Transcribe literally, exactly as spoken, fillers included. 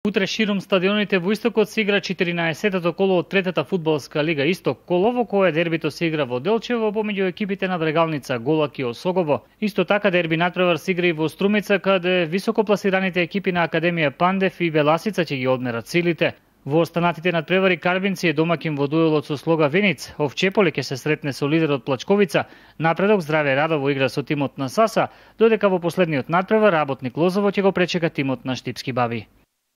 Утре ширум стадионите во Истокот се игра четиринаесеттото коло од третата фудбалска лига Исток коло, во кое дербито се игра во Делчево помеѓу екипите на Драгалница, Голак и Осогово. Исто така дерби натпревар се игра и во Струмица, каде високопласираните екипи на Академија Пандев и Веласица ќе ги одмерат силите. Во останатите надпревари Карбинци е домакин во дуелот со Слога Вениц, Овчеполи ќе се сретне со лидерот Плачковица, Напредок Здраве Радово игра со тимот на Саса, додека во последниот надпревар Работник Лозово ќе го пречека тимот на Штипски баби.